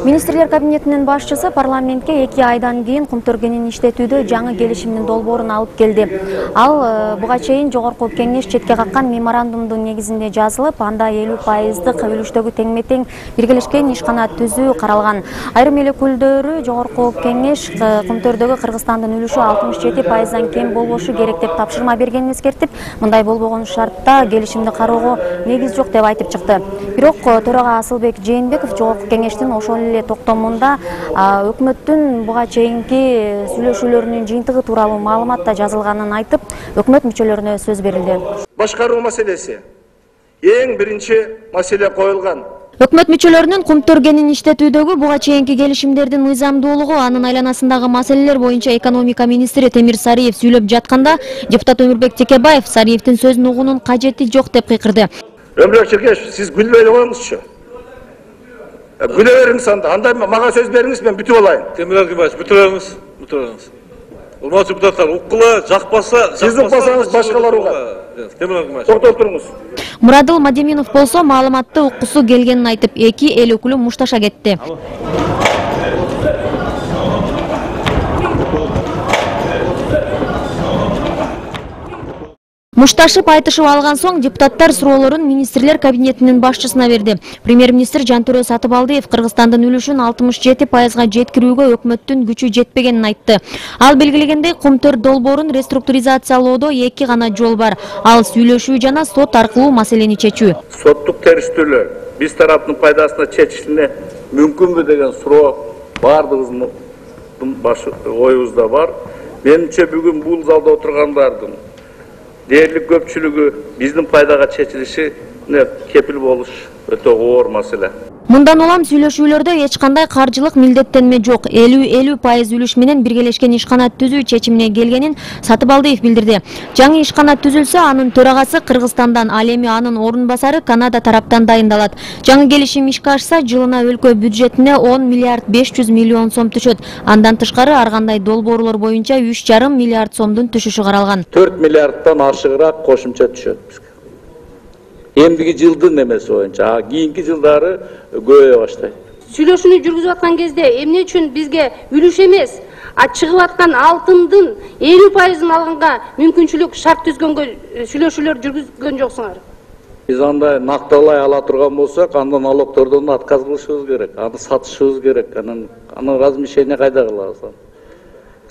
Министрлер кабинетинин башчысы парламентке 2 айдан кийин Кумтөргенин иштетүүдө жаңы келишимдин долбоорун алып келди. Ал буга чейин жогорку кеңеш четке каккан меморандумдун негизинде жазылып, анда 50%дык үлүштөгү теңме-тең биргелешкен ишкана түзүү каралган. Айрым эл өкүлдөрү жогорку кеңеш Кумтөрдөгү Кыргызстандын үлүшү 67%дан кем болбошу керек деп тапшырма бергенин эскертип, мындай болбогон шартта келишимди кароого негиз жок деп айтып чыкты. Бирок төрага Асылбек Жээнбеков жогорку кеңештин ошол эле токтомунда өкмөттүн буга чейинки сүйлөшүүлөрүнүн жыйынтыгы тууралуу маалымат да жазылганын айтып, өкмөт мүчөлөрүнө сөз берилди. Башкаруу маселеси эң биринчи маселе коюлган. Өкмөт мүчөлөрүнүн Кумтөргенин иштетүүдөгү буга чейинки келишимдердин мыйзамдуулугу, анын айланасындагы маселелер боюнча экономика министри Темир Сариев сүйлөп жатканда, депутат Өмүрбек Текебаев Сариевдин сөзүн угуунун кажети жок деп кыйкырды. Өмүрбек Текебаев, сиз күлбөй коюңузчу. Күлө бериңиз анда мага сөз бериңиз, мен бүтүп алайын. Темир Аргибаевич, бүтүрөңүз. Урматтуу депутаттар, уккула, жакпаса, сиз укпасаңыз башкалар угат. Темир Аргибаевич. Токтоп туруңуз. Мурадыл Мадеминов болсо маалыматты уккусу келгенин айтып, 2 эл өкүлү мушташа кетти. Мушташып айтышып алган соң депутаттар суроолорун министрлер кабинетинин башчысына берди. Премьер-министр Жантөрө Сатыбалдиев Кыргызстандын үлүшүн 67%га жеткирүүгө өкмөттүн күчү жетпегенин айтты. Ал белгилегендей, Кумтөр долбоорун реструктуризациялоодо 2 гана жол бар. Ал сүйлөшүү жана сот аркылуу маселени чечүү. Соттук териштүүлөр биз тараптын пайдасына чечилине мүмкүнбү деген суроо бардыгыбыздын оюбузда бар. Менимче бүгүн бул залда отургандардын дээрлик көпчүлүгү биздин пайдага чечилишине кепил болуш өтө оор маселе. Мындан улам сүйлөшүүлөрдө эч кандай каржылык милдеттенме жок. 50% үлүш менен биргелешкен ишкана түзүү чечимине келгенин Сатыбалдиев билдирди. Жаңы ишкана түзүлсө, анын төрагасы Кыргызстандан, ал эми анын орун басары Канада тараптан дайындалат. Жаңы келишим ишке ашса, жылына өлкө бюджетине 10 миллиард 500 миллион сом түшөт. Андан тышкары ар кандай долбоорлор боюнча 3,5 миллиард сомдун түшүшү каралган. 4 миллиарддан ашыгыраак кошумча түшөт. Эмдиги жылдын эмеси боюнча, кийинки жылдары көбөйө баштайт. Сүйлөшүүнү жүргүзүп аткан кезде эмне үчүн бизге үлүш эмес, чыгып аткан алтындын 50%-ын алганга мүмкүнчүлүк шарт түзгөнгө сүйлөшүүлөр жүргүзгөн жоксуңар? Биз андай накталай ала турган болсок, анда налогтордон отказ кылышыбыз керек, аны сатышыбыз керек, анын размещение кайда кылабыз?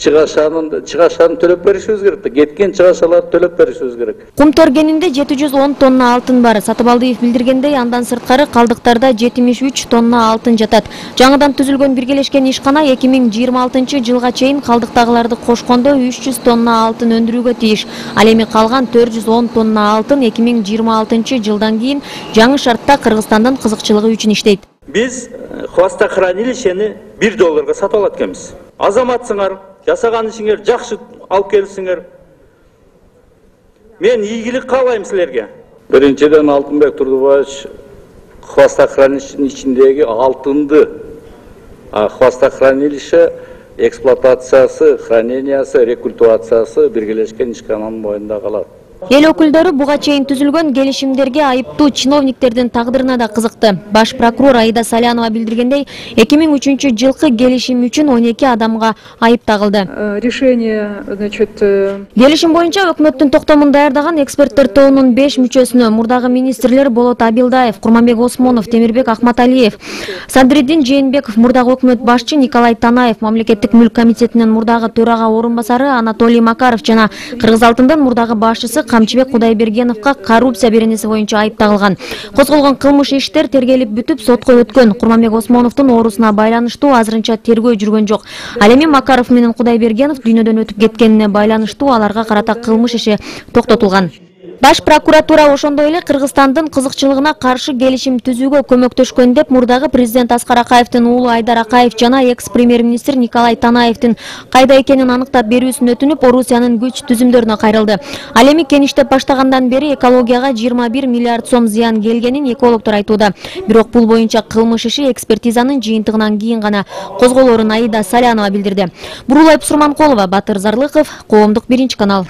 Чыгашаны төлөп беришибиз керек, кеткен чыгашаларды төлөп беришибиз керек. Кумтөргенинде 710 тонна алтын бар. Сатыбалдиев билдиргендей, андан сырткары калдыктарда 73 тонна алтын жатат. Жаңыдан түзүлгөн биргелешкен ишкана 2026 жылга чейин калдыктагыларды кошкондо 300 тонна алтын өндүрүүгө тийиш. Ал эми калган 410 тонна алтын 2026 жылдан кийин жаңы шартта Кыргызстандын кызыкчылыгы үчүн иштейт. Биз хвостохранилищени $1 сатып алат экенбиз. Азаматсыңар, жасаган ишиңер жакшы алып келсиңер. Мен ийгилик каалайм силерге. Биринчиден Алтынбек Турдубаевич хвостохранилищенин ичиндеги алтынды хвостохранилище эксплуатациясы, хранениясы, рекультивациясы биргелешкен ишкананын мойнунда калат. Эл өкүлдөрү буга чейин түзүлгөн келишимдерге айыптуу чиновниктердин тагдырына да кызыкты. Баш прокурор Аида Салянова билдиргендей, 2003 жылкы келишим үчүн 12 адамга айып тагылды. Келишим боюнча өкмөттүн токтомун даярдаган эксперттер тобунун 5 мүчөсүнө мурдагы министрлер Болот Абилдаев, Курманбек Осмонов, Темирбек Акматалиев, Садриддин Жээнбеков, мурдагы өкмөт башчы Николай Танаев, Мамлекеттик мүлк комитетинин мурдагы төрага орун басары Анатолий Макаров жана Кыргызалтындын мурдагы башчысы Камчыбек Кудайбергеновго коррупция беренеси боюнча айып тагылган. Козголгон кылмыш иштер тергелип бүтүп сотко өткөн. Курманбек Осмоновдун оорусуна байланыштуу азырынча тергөө жүргөн жок. Ал эми Макаров менен Кудайбергенов дүйнөдөн өтүп кеткенине байланыштуу аларга карата кылмыш иши токтотулган. Баш прокуратура ошондой эле Кыргызстандын кызыкчылыгына каршы келишим түзүүгө көмөктөшкөн деп мурдагы президент Аскар Акаевдин уулу Айдар Акаев жана экс-премьер-министр Николай Танаевдин кайда экенин аныктап берүүсүн өтүнүп, Орусиянын күч түзүмдөрүнө кайрылды. Ал эми кеништеп баштагандан бери экологияга 21 миллиард сом зыян келгенин экологдор айтууда. Бирок бул боюнча кылмыш иши экспертизанын жыйынтыгынан кийин гана козголорун Аида Салянова билдирди. Бурулай Пусурманкулова, Батыр Зарлыков, Коомдук 1 канал.